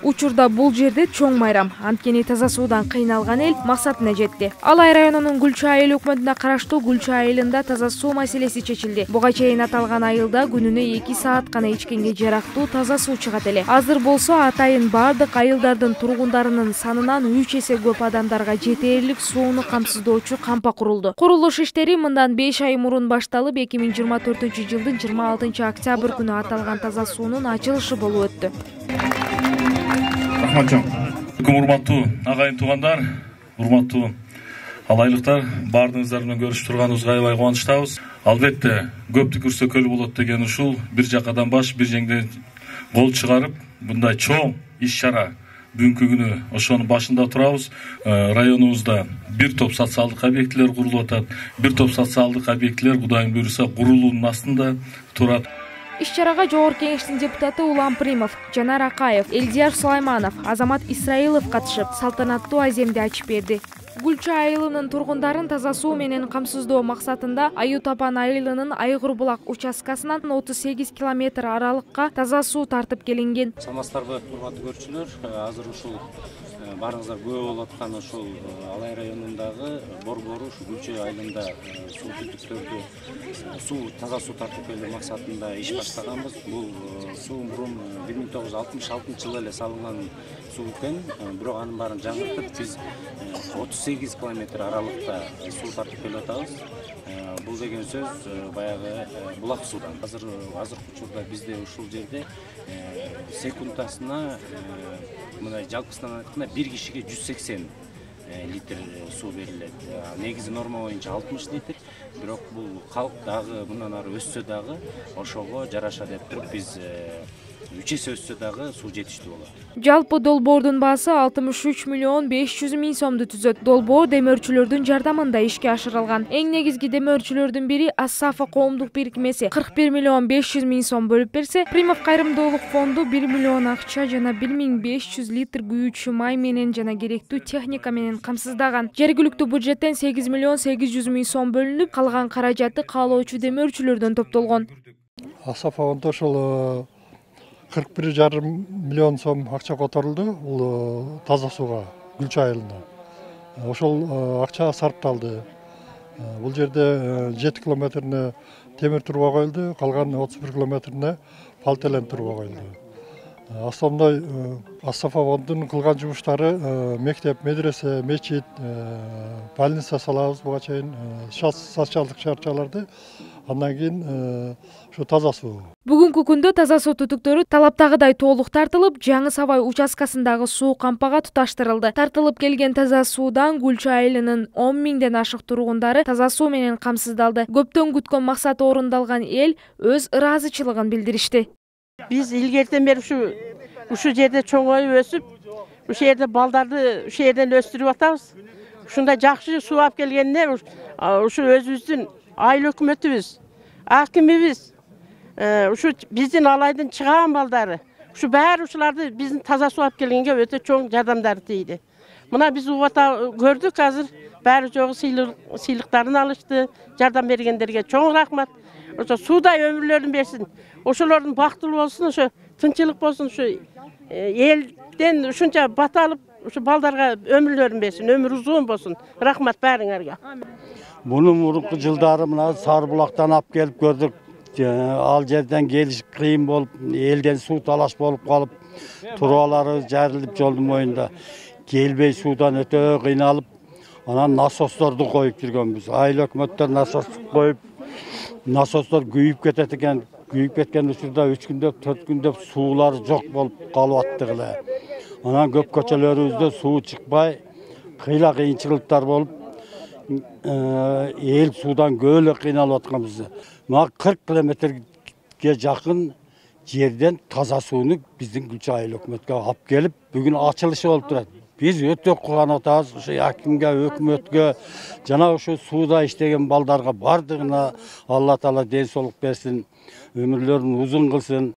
Учурда бул жерде чоң майрам, анткени таза суудан кыйналган эл максатына жетти. Алай районунун Гүлчү айыл өкмөтүнө караштуу Гүлчү айылында таза суу маселеси чечилди. Буга чейин аталган айылда күнүнө 2 саат гана ичкенге жарактуу таза суу чыгат эле. Азыр болсо атайын бардык айылдардын тургундарынын санынан 3 эсе көп адамдарга жетээрлик сууну камсыздоочу кампа курулду. Курулуш иштери мындан 5 ай мурун башталып, 2024-жылдын 26 октябрь күнү аталган таза суунун ачылышы болуп өттү. Урматтуу агайын туугандар, урматтуу алайлыктар, баардыгыңыздар менен көрүшүп турганыбызга аябай кубанычтабыз. Албетте, көптү көрсө көл болот деген ушул бир жакадан баш, бир жеңден кол чыгарып, мындай чоң иш-чара бүгүнкү күнү ошонун башында турабыз. Районубузда бир топ социалдык объектилер курулуп атат. Бир топ социалдык объектилер Кудайым буйруса курулуунун астында турат. Иш-чарага Жогорку Кеңештин депутаты Улам Примов, Жанар Акаев, Элдияр Сулайманов, Азамат Исраилов катышып, салтанаттуу аземди ачып берди. Гүлчү айылынын тургундарын таза суу менен камсыздоо максатында Аю Тапан айылынын Айгыр булак участкасынан 38 километр аралыкка таза суу тартып келинген. Саламатсыздарбы, урматтуу көрүүчүлөр. Азыр ушул баарыңыздар күбө болуп аткан ушул Алай районундагы Борбору Гүлчү айылында суу түтүктөрдү таза суу тартып келүү максатында иш баштаганбыз. Бул суу мурун 1966-жылы эле салынган суу экен, бирок анын баарын жаңыртып биз 38 километр аралыкта суу тартып келип атабыз. Бул деген сөз баягы булак суудан. Азыркы учурда бизде ушул жерде секундасына мындай жалпысынан айтканда бир кишиге 180 литр суу берилет. Негизи норма боюнча 60 литр. Бирок бул калк дагы мындан ары өссө дагы ошого жараша деп туруп биз 3 эсе өссө дагы суу жетиштүү болот. Жалпы долбоордун баасы 63 миллион 500 миң сомду түзөт. Долбоор демөөрчүлөрдүн жардамында ишке ашырылган. Эң негизги демөөрчүлөрдүн бири Ассафа коомдук бирикмеси 41 миллион 500 миң сом бөлүп берсе, Примов кайрымдуулук фонду 1 миллион акча жана 1500 литр күйүүчү май менен жана керектүү техника менен камсыздаган. Жергиликтүү бюджеттен 8 миллион 800 миң сом бөлүнүп, калган каражаты каалоочу демөөрчүлөрдөн топтолгон. Ассафа фонду ошол 41,5 миллион сом акча которулду бул таза сууга Гүлчү айылына. Ошол акча сарпталды. Бул жерде 7 километрине темир труба коюлду, калган 31 километрине полиэтилен труба коюлду. Основной Ассафа фондунун кылган жумуштары мектеп, медресе, мечит, больница салабыз буга чейин, социалдык чарчаларды. Андан кийин ушу таза суу. Бүгүнкү күндө таза суу түтүктөрү талаптагыдай толук тартылып, Жаңы Сабай участкасындагы суу кампага туташтырылды. Тартылып келген таза суудан Гүлчү айылынын 10 миңден ашык тургундары таза суу менен камсыздалды. Көптөн күткөн максаты орундалган эл өз ыраазычылыгын билдиришти. Биз илгертен бери ушу жерде чоңоюп өсүп, ушул жерде балдарды ушул жерден өстүрүп атабыз. Ушундай жакшы суу алып келгенине ушу өзүбүздүн айыл өкмөтүбүз, акимибиз, ушу биздин алайдын чыган балдары, ушу баары ушуларды биздин таза суу алып келгенге өтө чоң жардамдары тийди. Мына биз көрдүк азыр баары жогу сыйлыктарын алышты, жардам бергендерге чоң рахмат. Ошо суудай өмүрлөрүн берсин. Ошолордун бактылуу болсун, ошо тынчылык болсун, ушу элден ушунча бата алып, ушу балдарга өмүрлөрүн берсин, өмүр узун болсун. Рахмат баарыңарга. Буну мурунку жылдары мына Сарбулактан алып келип көрдүк. Ал жерден келиш кыйын болуп, элден суу талаш болуп калып, трубалары жарылып жолдун моюнда. Келбей суудан өтө кыйналып, анан насосторду коюп жүргөнбүз. Айыл өкмөттөр насос коюп, насостор күйүп кетет экен. Күйүп кеткен учурда 3 күндөп, 4 күндөп суулары жок болуп калып аттык эле. Анан көп көчөлөрүбүздө суу чыкпай, кыйынчылыктар болуп, эл суудан көөлө кыйналып атканбыз. Мына 40 километрге жакын жерден таза сууну биздин Гүлчү айыл өкмөткө алып келип, бүгүн ачылышы болуп турат. Биз өтө кубанып атабыз, ушу акимге, өкмөткө, жана ушу сууда иштеген балдарга бардыгына Алла Таала ден соолук берсин, өмүрлөрүн узун кылсын.